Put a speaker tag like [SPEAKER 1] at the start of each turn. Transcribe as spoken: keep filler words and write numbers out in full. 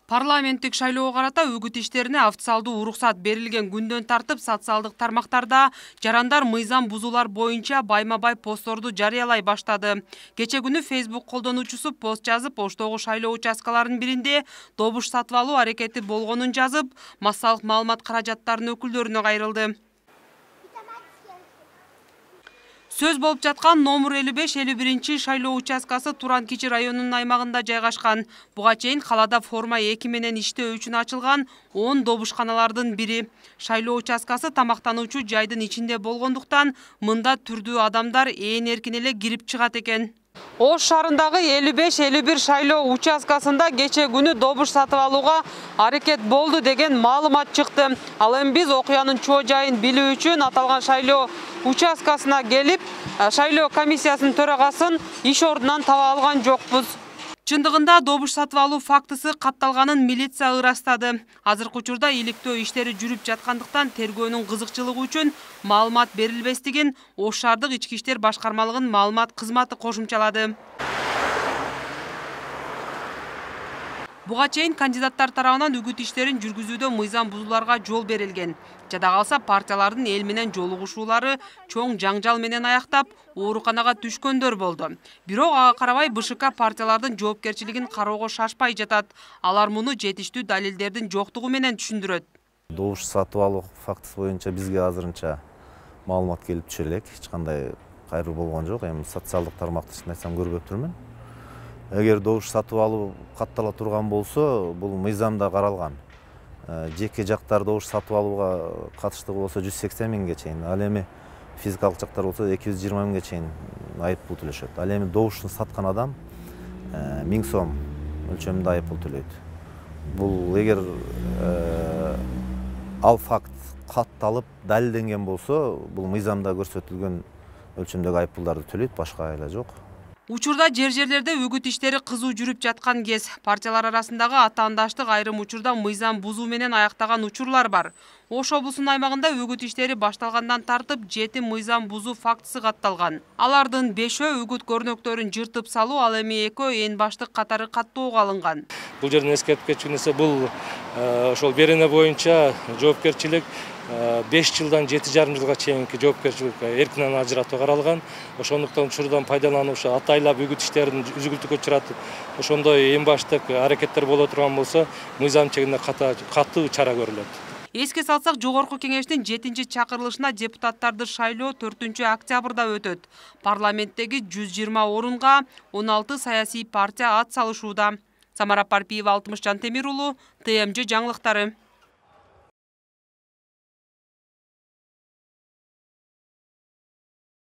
[SPEAKER 1] Парламенттик шайлоого карата үгүт иштерине официалдуу уруксат берилген күндөн тартып социалдык тармактарда жарандар мыйзам бузуулар боюнча байма-бай постторду жарыялай баштады. Кече күнү Facebook колдонуучусу пост жазып, Оштогу шайлоо участкаларынын биринде добуш сатып алуу аракети болгонун жазып, массалык маалымат каражаттарынын өкүлдөрүнө кайрылды. Сөз болуп жаткан номер элүү беш элүү биринчи шайлоо участкасы Туран-Кичи районунун аймагында жайгашкан. Буга чейин калаада форма эки менен иштөө үчүн ачылган он добушканалардын бири. Шайлоо участкасы тамактануучу жайдын ичинде болгондуктан мында түрдүү адамдар ээн эркин эле кирип чыгат экен. Ош шаарындагы элүү беш элүү бир шайлоо участкасында кече күнү добуш сатып алууга аракет болду деген маалымат чыкты. Ал эми биз окуянын чоо жайын билүү үчүн аталган шайлоо участкасына келип, шайлоо комиссиясынын төрагасын иш ордунан таба алган жокпуз. Чындыгында добуш сатып алуу фактысы катталганын милиция ырастады. Азыркы учурда иликтөө иштери жүрүп жаткандыктан тергөөнүн кызыкчылыгы үчүн маалымат берилбестигин Ош шаардык ички иштер башкармалыгынын маалымат кызматы кошумчалады. Буга чейин кандидаттар тарабынан үгүт иштерин жүргүзүүдө мыйзам бузууларга жол берилген. Жада калса партиялардын эл менен жолугушуулары чоң жаңжал менен аяктап, ооруканага түшкөндөр болду. Бирок ага карабай БШК партиялардын жоопкерчилигин кароого шашпай жатат. Алар муну жетиштүү далилдердин жоктугу менен түшүндүрөт.
[SPEAKER 2] Добуш сатып алуу фактысы боюнча бизге азырынча маалымат келип түшө элек. Эч кандай кайрылуу болгон жок. Эми социалдык тармакты чын айтсам көрбөп турмун. Эгер добуш сатып алуу каттала турган болсо, бул мыйзамда каралган. Жеке жактар добуш сатып алууга катыштыгы болсо жүз сексен миңге чейин, ал эми физикалык жактар болсо эки жүз жыйырма миңге чейин айыппул төлөшөт. Ал эми добушун саткан адам миң сом өлчөмүндө айыппул төлөйт. Бул эгер ал факт катталып далилденген болсо, бул мыйзамда көрсөтүлгөн өлчөмдөгү айыппулдарды төлөйт, башка айла жок.
[SPEAKER 1] Учурда жер-жерлерде үгүт иштери кызуу жүрүп жаткан кез. Партиялар арасындагы атаандаштык айрым учурда мыйзам бузуу менен аяктаган учурлар бар. Ош облусунун аймагында үгүт иштери башталгандан тартып жети мыйзам бузуу фактысы катталган. Алардын бешөө үгүт көрнөктөрүн жыртып салуу, ал эми экөө эң баштык катары каттоого алынган.
[SPEAKER 3] Бул жерден эскертип кетчү нерсе, бул ошол берене боюнча жоопкерчилик беш жылдан жети жарым жылга чейинки жоопкерчилик эркинен ажыратуу каралган. Ошондуктан учурдан пайдалануучу атайлап үгүт иштерин үзгүлтүккө учуратып, ошондой эң баштык аракеттер боло турган болсо, мыйзам чегинде катуу чара көрүлөт.
[SPEAKER 1] Эске салсак, жогорку кеңештин жетинчи чакырылышына депутаттарды шайлоо төртүнчү октябрда өтөт. Парламенттеги жүз жыйырма орунга он алты саясий партия ат салышууда. Самара Парпиева, Алтымыш Жантемир уулу, Т М Ж жаңылыктары.